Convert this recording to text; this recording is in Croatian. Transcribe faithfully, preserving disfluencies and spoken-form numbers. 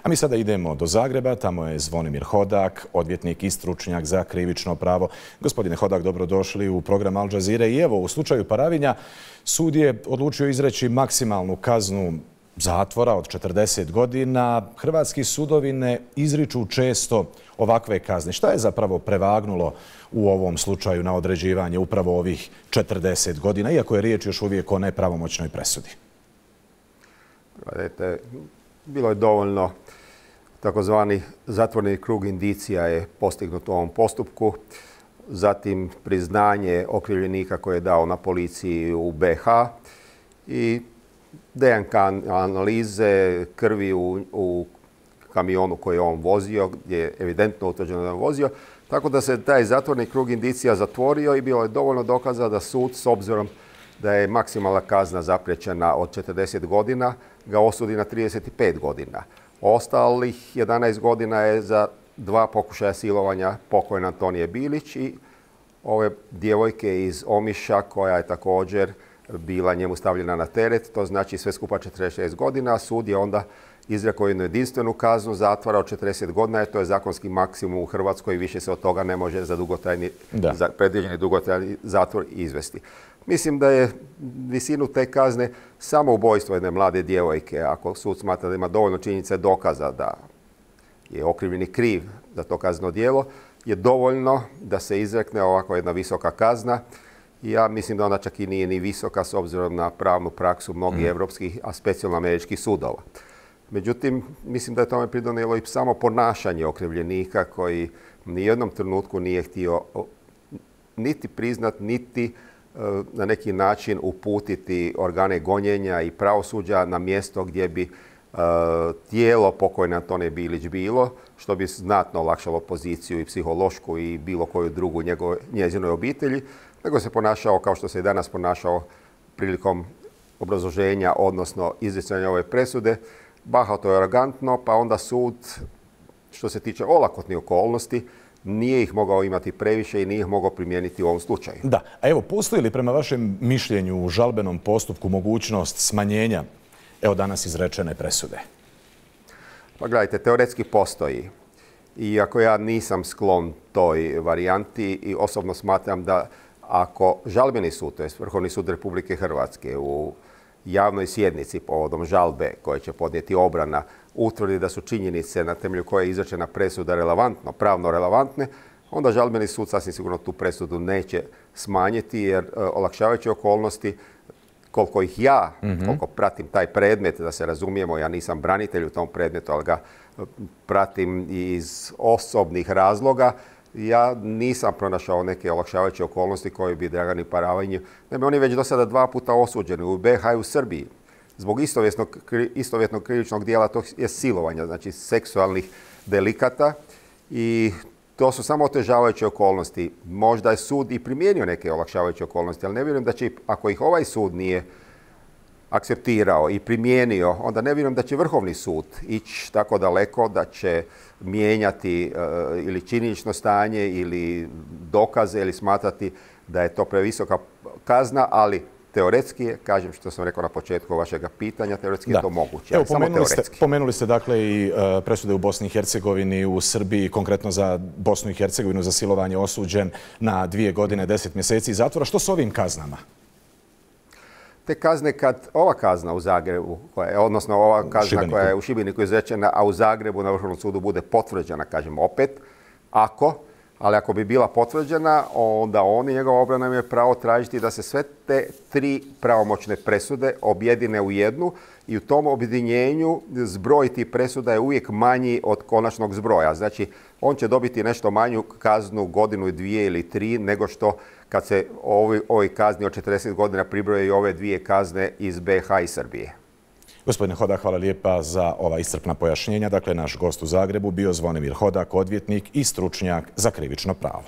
A mi sada idemo do Zagreba, tamo je Zvonimir Hodak, odvjetnik i stručnjak za krivično pravo. Gospodine Hodak, dobrodošli u program Al Jazeere. I evo, u slučaju Paravinja, sud je odlučio izreći maksimalnu kaznu zatvora od četrdeset godina. Hrvatski sudovi ne izriču često ovakve kazne. Šta je zapravo prevagnulo u ovom slučaju na određivanje upravo ovih četrdeset godina, iako je riječ još uvijek o nepravomoćnoj presudi? Bilo je dovoljno, takozvani zatvoreni krug indicija je postignut u ovom postupku. Zatim priznanje okrivljenika koje je dao na policiji u B iH i D N K analize krvi u, u kamionu koji je on vozio, gdje je evidentno utvrđeno da je on vozio. Tako da se taj zatvorni krug indicija zatvorio i bilo je dovoljno dokaza da sud, s obzirom da je maksimalna kazna zapriječena od četrdeset godina, ga osudi na trideset pet godina. Ostalih jedanaest godina je za dva pokušaja silovanja pokojne Antonije Bilić i ove djevojke iz Omiša koja je također bila njemu stavljena na teret. To znači sve skupa četrdeset šest godina. Sud je onda izrekao jednu jedinstvenu kaznu zatvora od četrdeset godina, jer to je zakonski maksimum u Hrvatskoj i više se od toga ne može za dugotrajni, za predviđeni dugotrajni zatvor izvesti. Mislim da je visinu te kazne samo ubojstvo jedne mlade djevojke, ako sud smatra da ima dovoljno činjenica dokaza da je okrivljeni kriv za to kazneno djelo, je dovoljno da se izrekne ovako jedna visoka kazna. Ja mislim da ona čak i nije ni visoka s obzirom na pravnu praksu mnogih evropskih, a specijalno američkih sudova. Međutim, mislim da je tome pridonijelo i samo ponašanje okrivljenika koji ni jednom trenutku nije htio niti priznat, niti na neki način uputiti organe gonjenja i pravosuđa na mjesto gdje bi uh, tijelo pokojne Antonije Bilić bilo, što bi znatno olakšalo poziciju i psihološku i bilo koju drugu njegove, njezinoj obitelji, nego se ponašao kao što se i danas ponašao prilikom obrazloženja, odnosno izricanja ove presude, bahato i arogantno, pa onda sud, što se tiče olakotnih okolnosti, nije ih mogao imati previše i nije ih mogao primijeniti u ovom slučaju. Da, a evo, postoji li prema vašem mišljenju u žalbenom postupku mogućnost smanjenja, evo danas izrečene presude? Pa gledajte, teoretski postoji. Iako ja nisam sklon toj varijanti i osobno smatram da ako žalbeni sud, to je Vrhovni sud Republike Hrvatske, u javnoj sjednici povodom žalbe koje će podnijeti obrana, utvrdi da su činjenice na temelju koje je izrečena presuda relevantno, pravno relevantne, onda žalbeni sud sasvim sigurno tu presudu neće smanjiti, jer e, olakšavajuće okolnosti, koliko ih ja, mm-hmm. koliko pratim taj predmet, da se razumijemo, ja nisam branitelj u tom predmetu, ali ga pratim iz osobnih razloga, ja nisam pronašao neke olakšavajuće okolnosti koje bi Dragani Paravinju. Naime, oni već do sada dva puta osuđeni u B iH i u Srbiji zbog istovjetnog krivičnog dijela, to je silovanja, znači seksualnih delikata, i to su samo otežavajuće okolnosti. Možda je sud i primijenio neke olakšavajuće okolnosti, ali ne vjerujem da će, ako ih ovaj sud nije akceptirao i primijenio, onda ne vjerujem da će Vrhovni sud ići tako daleko da će mijenjati uh, ili činjenično stanje ili dokaze ili smatrati da je to previsoka kazna, ali teoretski je, kažem što sam rekao na početku vašega pitanja, teoretski da. je to moguće. Evo, pomenuli, ste, pomenuli ste dakle i uh, presude u Bosni i Hercegovini, u Srbiji, konkretno za Bosnu i Hercegovinu za silovanje osuđen na dvije godine, deset mjeseci zatvora. Što s ovim kaznama? Te kazne, kad ova kazna u Zagrebu, koja je, odnosno ova kazna Šibeniku. koja je u Šibeniku izrečena, a u Zagrebu na Vrhovnom sudu bude potvrđena, kažem opet, ako, ali ako bi bila potvrđena, onda on i njegova obrana imaju pravo tražiti da se sve te tri pravomoćne presude objedine u jednu i u tom objedinjenju zbroj tih presuda je uvijek manji od konačnog zbroja. Znači, on će dobiti nešto manju kaznu, godinu i dvije ili tri, nego što kad se ovoj, ovoj kazni od četrdeset godina pribroje i ove dvije kazne iz B iH i Srbije. Gospodine Hodak, hvala lijepa za ova iscrpna pojašnjenja. Dakle, naš gost u Zagrebu bio Zvonimir Hodak, odvjetnik i stručnjak za krivično pravo.